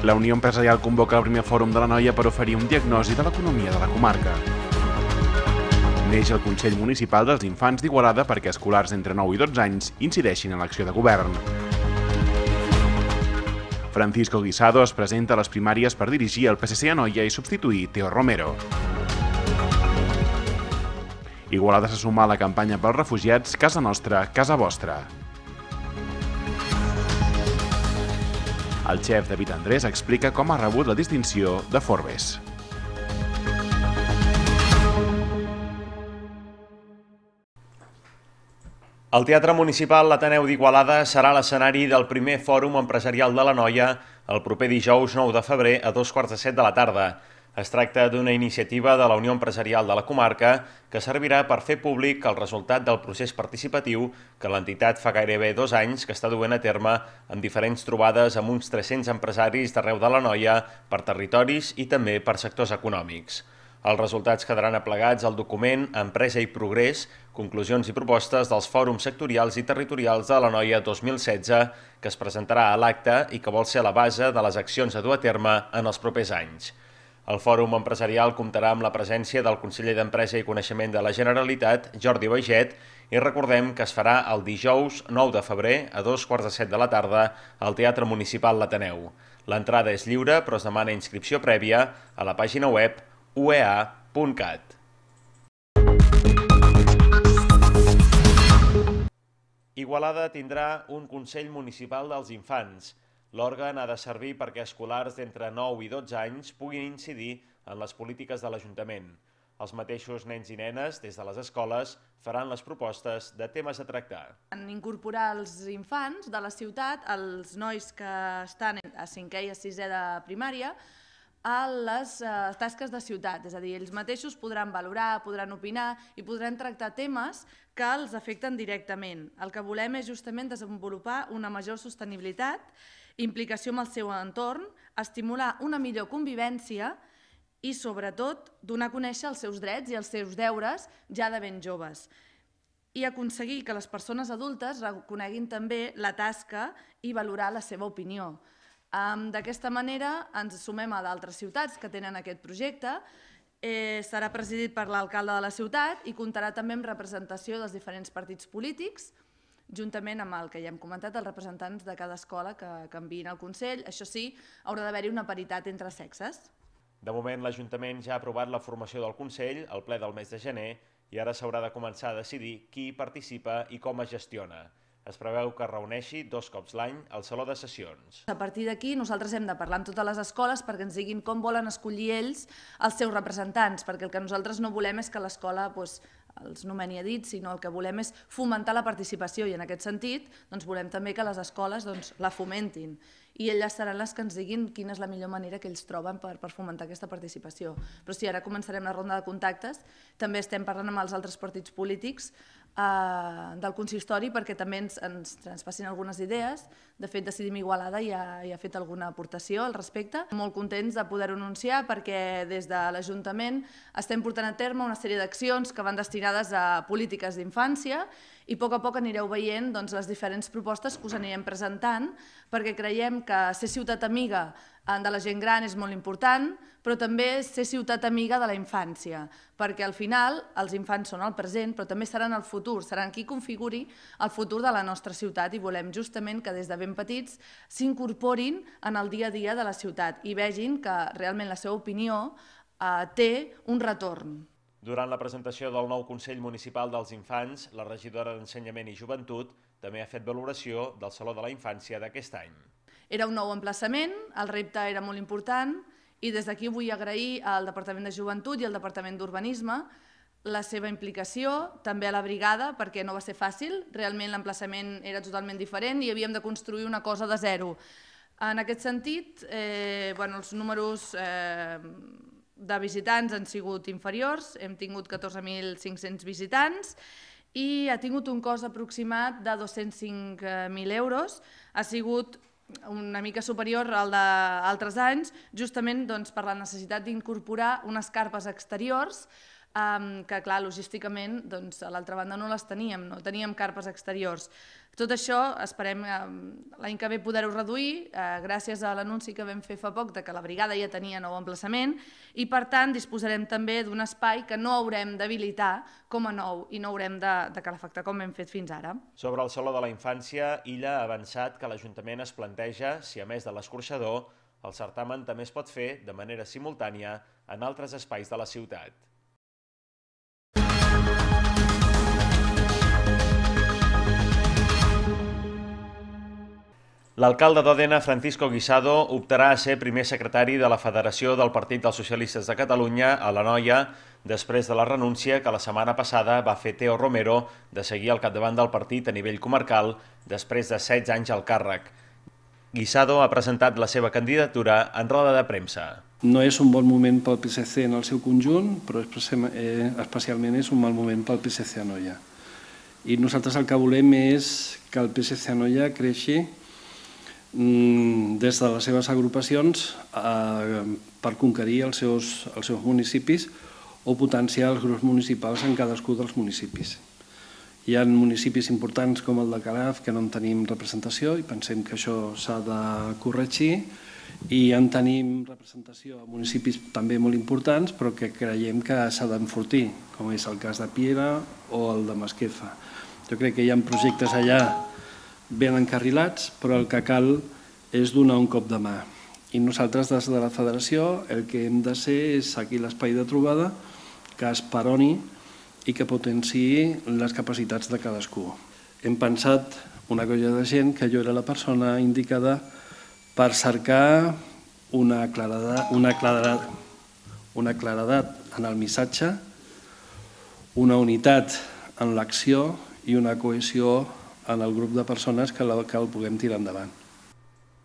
La Unió Empresarial convoca el primer fòrum de l'Anoia per oferir un diagnosi de l'economia de la comarca. Neix el Consell Municipal dels Infants d'Igualada perquè escolars entre 9 i 12 anys incideixin en l'acció de govern. Francisco Guisado es presenta a les primàries per dirigir el PSC Anoia i substituir Teo Romero. Igualada se suma a la campanya pels refugiats Casa Nostra, Casa Vostra. El xef David Andrés explica com ha rebut la distinció de Forbes. El Teatre Municipal l'Ateneu d'Igualada serà l'escenari del primer Fòrum Empresarial de l'Anoia el proper dijous 9 de febrer a 2:45 de la tarda. Es tracta d'una iniciativa de la Unió Empresarial de la comarca que servirà per fer públic el resultat del procés participatiu que l'entitat fa gairebé 2 anys que està duent a terme amb diferents trobades amb uns 300 empresaris d'arreu de l'Anoia per territoris i també per sectors econòmics. Els resultats quedaran aplegats al document Empresa i Progrés, conclusions i propostes dels fòrums sectorials i territorials de l'Anoia 2016 que es presentarà a l'acte i que vol ser la base de les accions a dur a terme en els propers anys. El Fòrum Empresarial comptarà amb la presència del conseller d'Empresa i Coneixement de la Generalitat, Jordi Baiget, i recordem que es farà el dijous 9 de febrer a 2:45 de la tarda al Teatre Municipal l'Ateneu. L'entrada és lliure, però es demana inscripció prèvia a la pàgina web uea.cat. Igualada tindrà un Consell Municipal dels Infants. L'òrgan ha de servir perquè escolars d'entre 9 i 12 anys puguin incidir en les polítiques de l'Ajuntament. Els mateixos nens i nenes, des de les escoles, faran les propostes de temes a tractar. Incorporar els infants de la ciutat, els nois que estan a 5è i a 6è de primària, a les tasques de ciutat, és a dir, ells mateixos podran valorar, podran opinar i podran tractar temes que els afecten directament. El que volem és justament desenvolupar una major sostenibilitat, implicació amb el seu entorn, estimular una millor convivència i, sobretot, donar a conèixer els seus drets i els seus deures ja de ben joves i aconseguir que les persones adultes reconeguin també la tasca i valorar la seva opinió. D'aquesta manera ens sumem a d'altres ciutats que tenen aquest projecte. Serà presidit per l'alcalde de la ciutat i comptarà també amb representació dels diferents partits polítics, juntament amb el que ja hem comentat, els representants de cada escola que enviïn al Consell. Això sí, haurà d'haver-hi una paritat entre sexes. De moment, l'Ajuntament ja ha aprovat la formació del Consell al ple del mes de gener i ara s'haurà de començar a decidir qui participa i com es gestiona. Es preveu que es reuneixi 2 cops l'any al Saló de Sessions. A partir d'aquí nosaltres hem de parlar amb totes les escoles perquè ens diguin com volen escollir ells els seus representants, perquè el que nosaltres no volem és que l'escola els nomeni a dit, sinó el que volem és fomentar la participació i en aquest sentit volem també que les escoles la fomentin i elles seran les que ens diguin quina és la millor manera que ells troben per fomentar aquesta participació. Però sí, ara començarem la ronda de contactes, també estem parlant amb els altres partits polítics del consistori perquè també ens passin algunes idees. De fet, Decidim Igualada ja ha fet alguna aportació al respecte. Molt contents de poder-ho anunciar perquè des de l'Ajuntament estem portant a terme una sèrie d'accions que van destinades a polítiques d'infància i a poc anireu veient les diferents propostes que us anirem presentant perquè creiem que ser ciutat amiga de la gent gran és molt important, però també ser ciutat amiga de la infància, perquè al final els infants són el present, però també seran el futur, seran qui configuri el futur de la nostra ciutat i volem justament que des de ben petits s'incorporin en el dia a dia de la ciutat i vegin que realment la seva opinió té un retorn. Durant la presentació del nou Consell Municipal dels Infants, la regidora d'Ensenyament i Joventut també ha fet valoració del Saló de la Infància d'aquest any. Era un nou emplaçament, el repte era molt important i des d'aquí vull agrair al Departament de Joventut i al Departament d'Urbanisme la seva implicació, també a la brigada, perquè no va ser fàcil, realment l'emplaçament era totalment diferent i havíem de construir una cosa de zero. En aquest sentit, els números de visitants han sigut inferiors, hem tingut 14.500 visitants i ha tingut un cost aproximat de 205.000 euros, ha sigut una mica superior al d'altres anys, justament per la necessitat d'incorporar unes carpes exteriors que clar, logísticament, doncs, a l'altra banda no les teníem, no teníem carpes exteriors. Tot això esperem l'any que ve poder-ho reduir, gràcies a l'anunci que vam fer fa poc de que la brigada ja tenia nou emplaçament i per tant disposarem també d'un espai que no haurem d'habilitar com a nou i no haurem de calefactar com hem fet fins ara. Sobre el Saló de la Infància, Illa ha avançat que l'Ajuntament es planteja si a més de l'escorxador, el certamen també es pot fer de manera simultània en altres espais de la ciutat. L'alcalde d'Òdena, Francisco Guisado, optarà a ser primer secretari de la Federació del Partit dels Socialistes de Catalunya a l'Anoia, després de la renúncia que la setmana passada va fer Teo Romero de seguir al capdavant del partit a nivell comarcal després de 16 anys al càrrec. Guisado ha presentat la seva candidatura en roda de premsa. No és un bon moment pel PSC en el seu conjunt, però especialment és un mal moment pel PSC Anoia. I nosaltres el que volem és que el PSC Anoia creixi des de les seves agrupacions per conquerir els seus municipis o potenciar els grups municipals en cadascú dels municipis. Hi ha municipis importants com el de Calaf que no en tenim representació i pensem que això s'ha de corregir i en tenim representació a municipis també molt importants però que creiem que s'ha d'enfortir, com és el cas de Piera o el de Masquefa. Jo crec que hi ha projectes allà ben encarrilats, però el que cal és donar un cop de mà. I nosaltres, des de la federació, el que hem de ser és aquí l'espai de trobada que esperoni i que potenciï les capacitats de cadascú. Hem pensat una colla de gent que jo era la persona indicada per cercar una claredat en el missatge, una unitat en l'acció i una cohesió en el grup de persones que el puguem tirar endavant.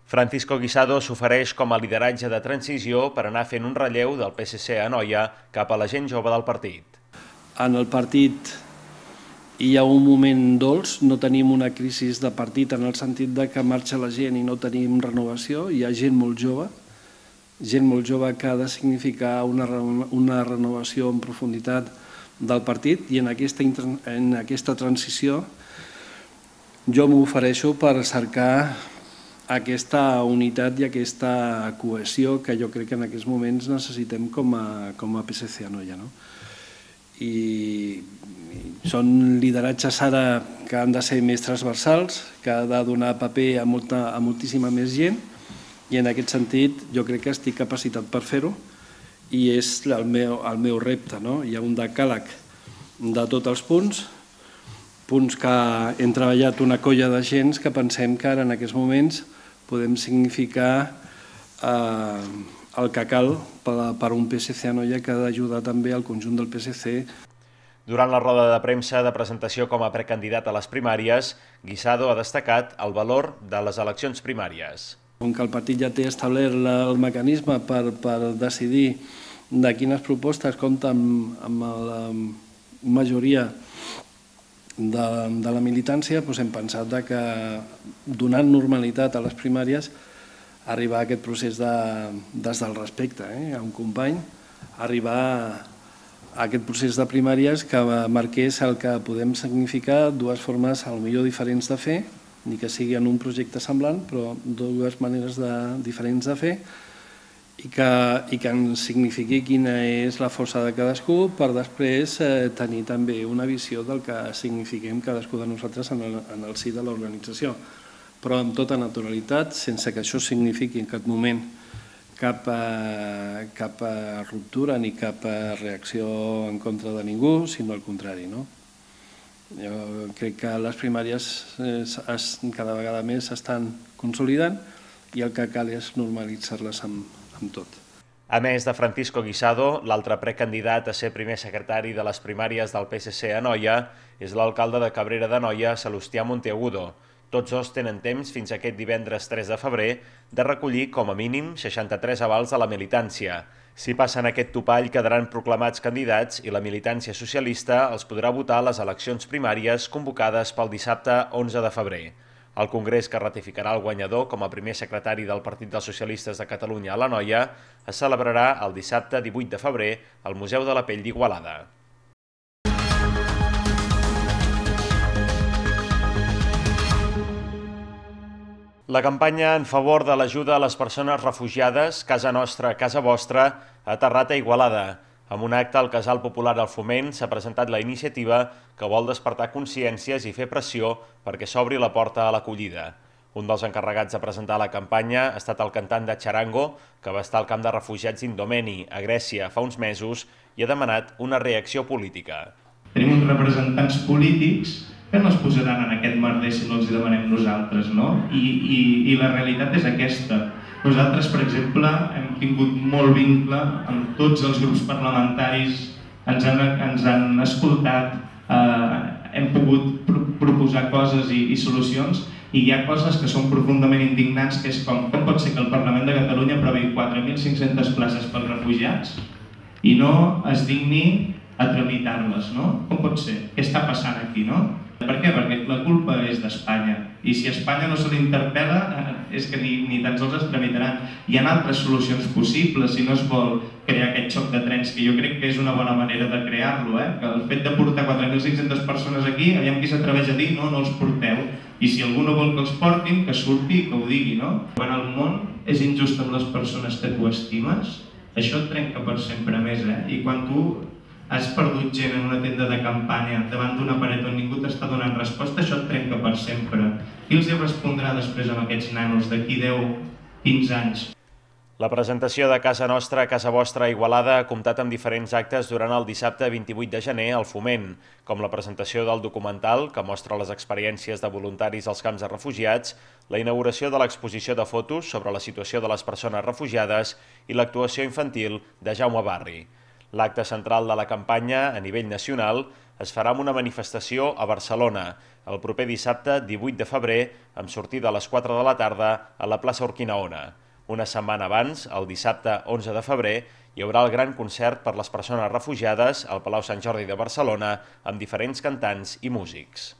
Francisco Guisado s'ofereix com a lideratge de transició per anar fent un relleu del PSC a Anoia cap a la gent jove del partit. En el partit hi ha un moment dolç, no tenim una crisi de partit en el sentit que marxa la gent i no tenim renovació, hi ha gent molt jove que ha de significar una renovació en profunditat del partit i en aquesta transició jo m'ofereixo per cercar aquesta unitat i aquesta cohesió que jo crec que en aquests moments necessitem com a PSC Anoia. I són lideratges ara que han de ser més transversals, que ha de donar paper a moltíssima més gent i en aquest sentit jo crec que estic capacitat per fer-ho i és el meu repte. Hi ha un decàleg de tots els punts que hem treballat una colla de gent que pensem que ara en aquests moments podem significar el que cal per un PSC Anoia que ha d'ajudar també al conjunt del PSC. Durant la roda de premsa de presentació com a precandidat a les primàries, Guisado ha destacat el valor de les eleccions primàries. Com que el partit ja té establert el mecanisme per decidir de quines propostes compta amb la majoria de la militància, hem pensat que donant normalitat a les primàries arribar a aquest procés des del respecte a un company, arribar a aquest procés de primàries que marqués el que podem significar dues formes potser diferents de fer, ni que sigui en un projecte semblant, però dues maneres diferents de fer i que ens signifiqui quina és la força de cadascú per després tenir també una visió del que signifiquem cadascú de nosaltres en el si de l'organització. Però amb tota naturalitat, sense que això signifiqui en cap moment cap ruptura ni cap reacció en contra de ningú, sinó al contrari. Jo crec que les primàries cada vegada més s'estan consolidant i el que cal és normalitzar-les amb tot. A més de Francisco Guisado, l'altre precandidat a ser primer secretari de les primàries del PSC a Anoia és l'alcalde de Cabrera d'Anoia, Salustià Monteagudo. Tots dos tenen temps fins aquest divendres 3 de febrer de recollir com a mínim 63 avals de la militància. Si passen aquest topall quedaran proclamats candidats i la militància socialista els podrà votar a les eleccions primàries convocades pel dissabte 11 de febrer. El Congrés que ratificarà el guanyador com a primer secretari del Partit dels Socialistes de Catalunya a l'Anoia es celebrarà el dissabte 18 de febrer al Museu de la Pell d'Igualada. La campanya en favor de l'ajuda a les persones refugiades, Casa Nostra, Casa Vostra, ha aterrat a Igualada. Amb un acte al Casal Popular al Foment s'ha presentat la iniciativa que vol despertar consciències i fer pressió perquè s'obri la porta a l'acollida. Un dels encarregats de presentar la campanya ha estat el cantant de Charango, que va estar al camp de refugiats d'Indomeni, a Grècia, fa uns mesos, i ha demanat una reacció política. Tenim uns representants polítics que no es posaran en aquest merder si no els demanem nosaltres, no? I la realitat és aquesta. Nosaltres, per exemple, hem tingut molt vincle amb tots els grups parlamentaris, ens han escoltat, hem pogut proposar coses i solucions, i hi ha coses que són profundament indignants, que és com pot ser que el Parlament de Catalunya aprovi 4.500 places pels refugiats i no es digni a tramitar-les, no? Com pot ser? Què està passant aquí, no? Per què? Perquè la culpa és d'Espanya. I si a Espanya no se l'interpel·la, és que ni tan sols es tramitaran. Hi ha altres solucions possibles si no es vol crear aquest xoc de trens, que jo crec que és una bona manera de crear-lo, que el fet de portar 4.500 persones aquí, aviam qui s'atreveix a dir no els porteu. I si algú no vol que els portin, que surti i que ho digui, no? Quan el món és injust amb les persones que tu estimes, això et trenca per sempre més, I quan tu has perdut gent en una tenda de campanya davant d'una paret on ningú t'està donant resposta, això et trenca per sempre. Qui els hi respondrà després amb aquests nanos d'aquí 10, 15 anys? La presentació de Casa Nostra, Casa Vostra a Igualada ha comptat amb diferents actes durant el dissabte 28 de gener al Foment, com la presentació del documental, que mostra les experiències de voluntaris als camps de refugiats, la inauguració de l'exposició de fotos sobre la situació de les persones refugiades i l'actuació infantil de Jaume Barri. L'acte central de la campanya, a nivell nacional, es farà amb una manifestació a Barcelona, el proper dissabte 18 de febrer, amb sortida a les 4 de la tarda a la plaça Urquinaona. Una setmana abans, el dissabte 11 de febrer, hi haurà el gran concert per les persones refugiades al Palau Sant Jordi de Barcelona, amb diferents cantants i músics.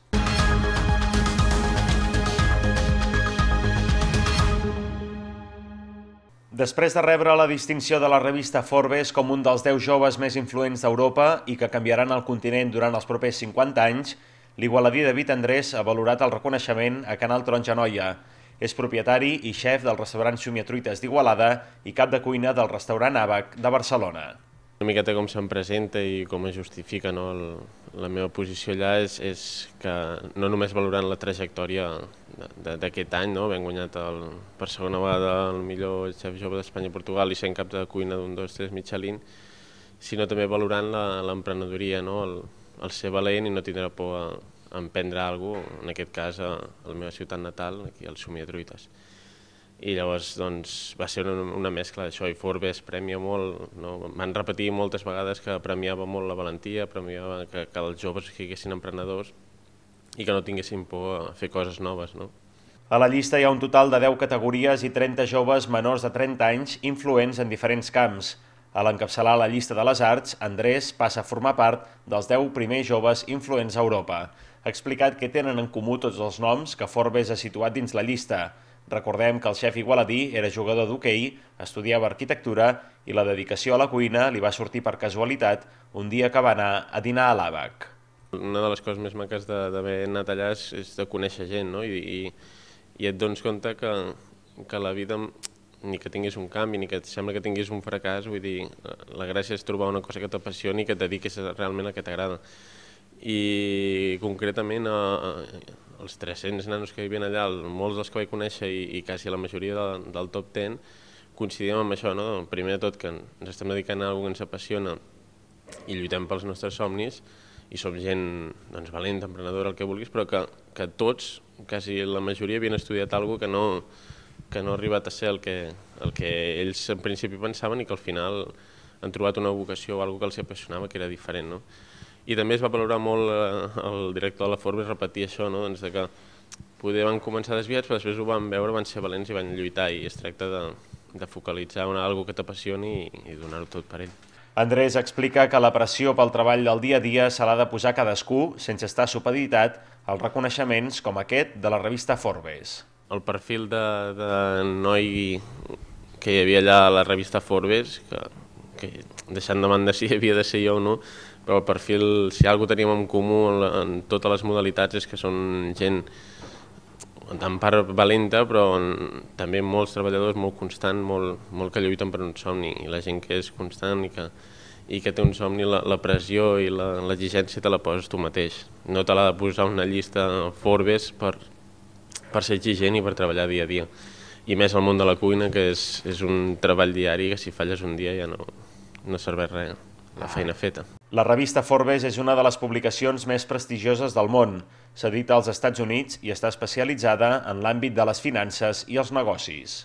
Després de rebre la distinció de la revista Forbes com un dels 10 joves més influents d'Europa i que canviaran el continent durant els propers 50 anys, l'igualadí David Andrés ha valorat el reconeixement a Canal Taronja Noia. És propietari i xef del restaurant Xumiatruites d'Igualada i cap de cuina del restaurant Àbac de Barcelona. Una miqueta com se'm presenta i com es justifica la meva posició allà és que no només valorant la trajectòria d'aquest any, hem guanyat per segona vegada el millor xef jove d'Espanya i Portugal i sent cap de cuina d'un 2-3 Michelin, sinó també valorant l'emprenedoria, el ser valent i no tindre por a emprendre alguna cosa, en aquest cas a la meva ciutat natal, aquí al Xumiatruites. I llavors va ser una mescla d'això, i Forbes premia molt, m'han repetit moltes vegades que premiava molt la valentia, premiava que els joves siguessin emprenedors i que no tinguessin por a fer coses noves. A la llista hi ha un total de 10 categories i 30 joves menors de 30 anys influents en diferents camps. A l'encapçalar la llista de les arts, Andrés passa a formar part dels 10 primers joves influents a Europa. Ha explicat que tenen en comú tots els noms que Forbes ha situat dins la llista. Recordem que el xef igualadí era jugador d'hoquei, estudiava arquitectura i la dedicació a la cuina li va sortir per casualitat un dia que va anar a dinar a l'Àbac. Una de les coses més maques d'haver anat allà és de conèixer gent, i et dones compte que la vida, ni que tinguis un canvi, ni que et sembla que tinguis un fracàs, vull dir, la gràcia és trobar una cosa que t'apassioni i que et dediquis realment al que t'agrada. I concretament els 300 nanos que hi havia allà, molts dels que vaig conèixer i quasi la majoria del top 10, coincidíem amb això, primer de tot que ens estem dedicant a alguna cosa que ens apassiona i lluitem pels nostres somnis i som gent valenta, emprenedora, el que vulguis, però que tots, quasi la majoria, havien estudiat alguna cosa que no ha arribat a ser el que ells en principi pensaven i que al final han trobat una vocació o alguna cosa que els apassionava que era diferent. I també es va valorar molt el director de la Forbes repetir això, que poder van començar desviats, però després ho van veure, van ser valents i van lluitar, i es tracta de focalitzar en alguna cosa que t'apassioni i donar-ho tot per ell. Andrés explica que la pressió pel treball del dia a dia se l'ha de posar cadascú sense estar supeditat als reconeixements com aquest de la revista Forbes. El perfil de noi que hi havia allà a la revista Forbes, que deixant de banda si havia de ser jo o no, però el perfil, si alguna cosa teníem en comú en totes les modalitats, és que són gent en part valenta, però també molts treballadors, molt constant, molt que lluiten per un somni, i la gent que és constant i que té un somni, la pressió i l'exigència te la poses tu mateix. No te l'ha de posar una llista Forbes per ser exigent i per treballar dia a dia. I més al món de la cuina, que és un treball diari que si falles un dia ja no serveix res, la feina feta. La revista Forbes és una de les publicacions més prestigioses del món. S'edita als Estats Units i està especialitzada en l'àmbit de les finances i els negocis.